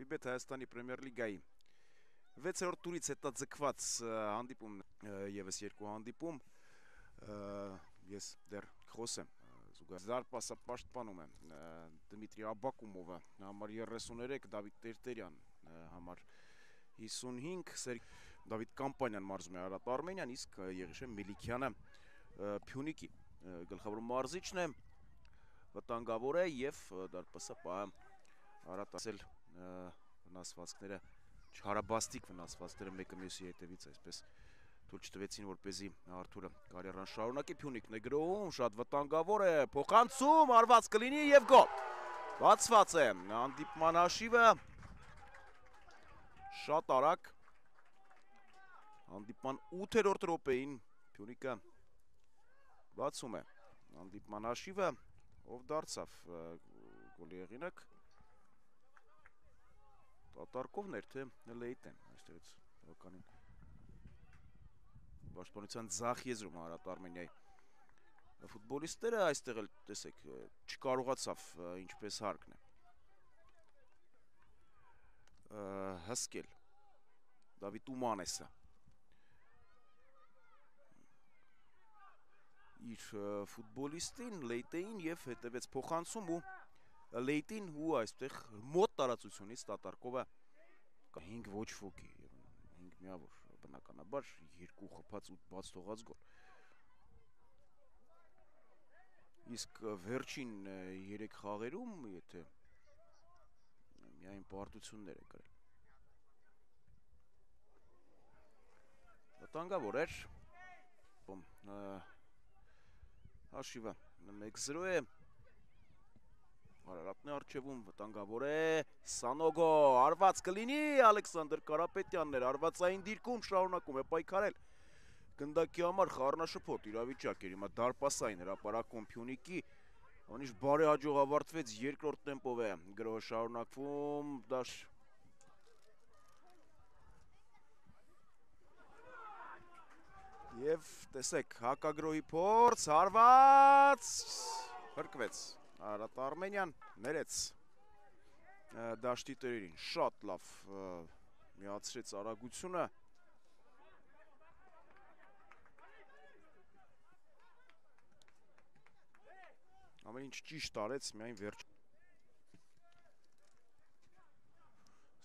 Հանդիպետ Հայաստանի Պրեմիեր լիգայի 6-րդ տուրից հետաձգված հանդիպում եւս երկու հանդիպում ես դեռ խոսեմ զարգպասը պաշտպանում է Դմիտրի Աբակումովը համար 33 Դավիթ Տերտերյան համար 55 Դավիթ Կամպանյան մարզում է Արարատ Արմենիան իսկ Եղիշե Մելիքյանը Փյունիկի գլխավոր մարզիչն է վտանգավոր է եւ դարպասը Արարատ ասել վնասվածքները չհարաբաստիկ վնասվածքները մեկը մյուսի հետևից այսպես թույլ չտվեցին որպեսզի Արթուրը կարիերան շարունակի Փյունիկն է գրոհում շատ վտանգավոր է փոխանցում արված կլինի եւ գոլ բացված է հանդիպման հաշիվը շատ արագ հանդիպման 8-րդ րոպեին Փյունիկը բացում է հանդիպման հաշիվը ով դարձավ գոլի հեղինակ Տատարկովն էր թե Լեյտեն այստեղից բավականին պաշտպանության ձախ եզրում Արարատ Արմենիայի ֆուտբոլիստները այստեղ էլ տեսեք չկարողացավ ինչպես հարկն է հսկել Դավիթ Ումանեսը իր ֆուտբոլիստին Լեյտեին եւ հետեւեց փոխանցում ու Լեյտին ու այստեղ մոտ տարածությունից Տատարկովը 5 ոչ ոքի 5 միավոր բնականաբար 2 խփած 8 բաց թողած գոլ իսկ վերջին 3 խաղերում եթե միայն պարտություններ է գրել վտանգավոր էր հաշիվը 1-0 է Արարատն է արջևում, վտանգավոր է, Սանոգո, արված կլինի, Ալեքսանդր Կարապետյանն էր, արվածային դիրքում շարունակում է պայքարել, գնդակի համար խառնաշփոթ իրավիճակ էր, հիմա դարպասային հրապարակում Փյունիկի, անիշ բարի հաջող ավարտվեց երկրորդ տեմպով է, գրոհը շարունակվում, դաշ և տեսեք, հակագրոհի փորձ, հարված, հրկվեց Արարատ Արմենիան ներեց դաշտի տերերին շատ լավ միացրեց արագությունը ամեն ինչ ճիշտ արեց միայն վերջ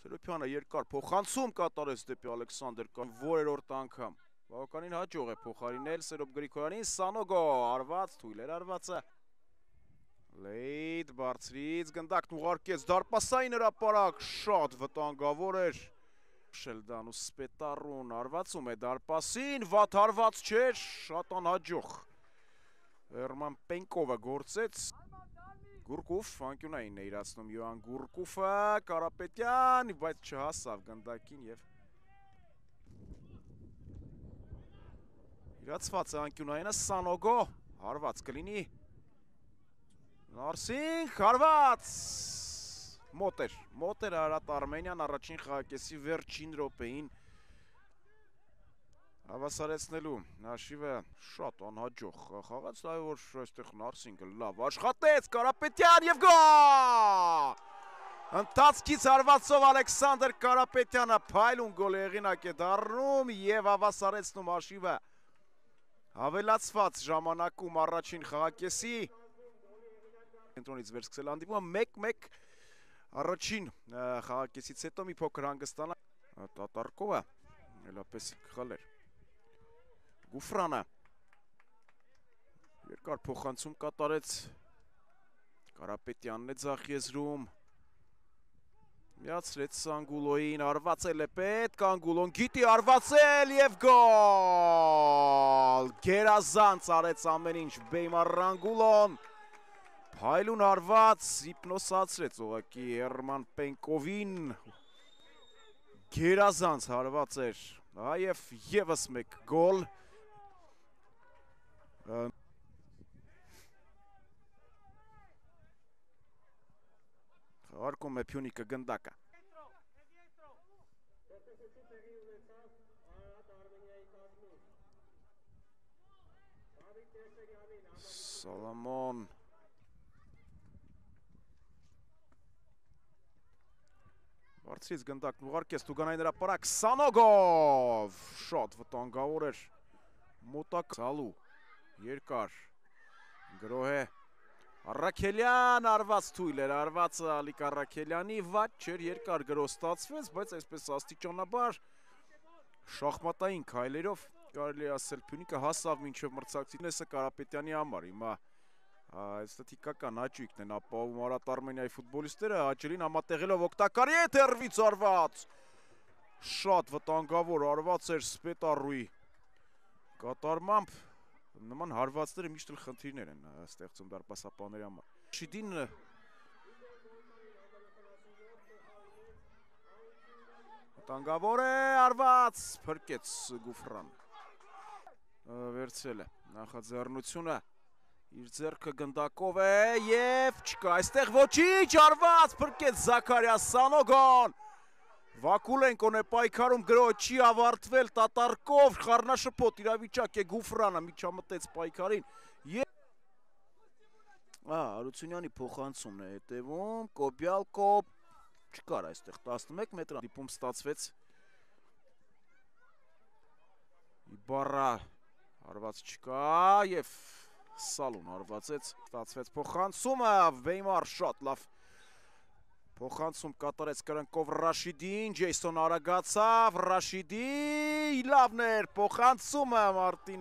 Սերոփյանը երկար փոխանցում կատարեց դեպի Ալեքսանդր կան որերորդ անգամ բավականին հաջող է փոխարինել Սերոփ Գրիգորյանին Սանոգո արված թույլ էր արվածը Լեյտ բարձրից գնդակն ուղարկեց դարպասային հրապարակ շատ վտանգավոր էր Շելդանուս Սպետարուն արվածում է դարպասին վատ հարված չէր շատ անհաջող Էրման Պենկովը գործեց Գուրկուվ անկյունային է իրացնում Յոան Գուրկուվը Կարապետյան բայց չհասավ գնդակին եւ իրացված է անկյունայինը Սանոգո հարված կլինի Նարսինք, հարված, մոտ էր Արարատ Արմենիան առաջին խաղակեսի վերջին րոպեին հավասարեցնելու հաշիվը շատ անհաջող խաղաց, այ որ այստեղ Նարսինքը լավ աշխատեց, Կարապետյան եւ գոլ! Ընթացքից հարվածով Ալեքսանդր Կարապետյանը փայլուն գոլի հեղինակ է դառնում եւ հավասարեցնում հաշիվը հավելացված ժամանակում առաջին խաղակեսի Կենտրոնից վերսկսել հանդիպումը 1-1 առաջին խաղակեսից հետո մի փոքր հանգստանա Տատարկովը նույնպես խլեր Գուֆրանը երկար փոխանցում կատարեց Կարապետյանն է ձախ եզրում միացրեց Անգուլոյին արվածել է պետք Անգուլոն գիտի արվածել եւ գոլ գերազանց արեց ամեն ինչ Բեյմար Անգուլոն Փայլուն հարված հիպնոսացրեց ուղղակի Էրման Պենկովին գերազանց հարված էր այև եւս մեկ գոլ Հարկում է Փյունիկը գնդակը Սոլոմոն Բարձրից գնդակն ուղարկեց Տուգանային հրապարակ Սանոգով շատ վտանգավոր էր մոտակ Սալու երկար գրոհե Առաքելյան արված թույլ էր արված Ալիկ Առաքելյանի վատ չէր երկար գրոհ ստացվեց բայց այսպես աստիճանաբար շախմատային քայլերով կարելի ասել Փյունիկը հասավ մինչև մրցակցությունները Կարապետյանի համար հիմա Ստատիկական աճույքն են ապահովում Արարատ Արմենիայի ֆուտբոլիստները աճերին համատեղելով օգտակարի է թերվից արված շատ վտանգավոր արված էր Սպետարուի կատարմամբ նման հարվածները միշտ էլ խնդիրներ են ստեղծում դարպասապահների համար Շիդին վտանգավոր է արված փրկեց Գուֆրան վերցրել է նախաձեռնությունը իր ձեռքը գնդակով է և չկա այստեղ ոչինչ արված փրկեց Զաքարիա Սանոգոն Վակուլենկոն է պայքարում գրոհը չի ավարտվել տատարկով խառնաշփոթ իրավիճակ է Գուֆրանը միջամտեց պայքարին Արությունյանի փոխանցումն է հետևում Կոբյալկոբ չկար այստեղ 11 մետր դիպում ստացվեց Իբարա արված չկա և Սալուն արվածեց, ստացվեց փոխանցումը, Վեյմար շատ լավ փոխանցում կատարեց կրնկով Ռաշիդին, Ջեյսոն արագացավ, Ռաշիդի լավն էր փոխանցումը Մարտին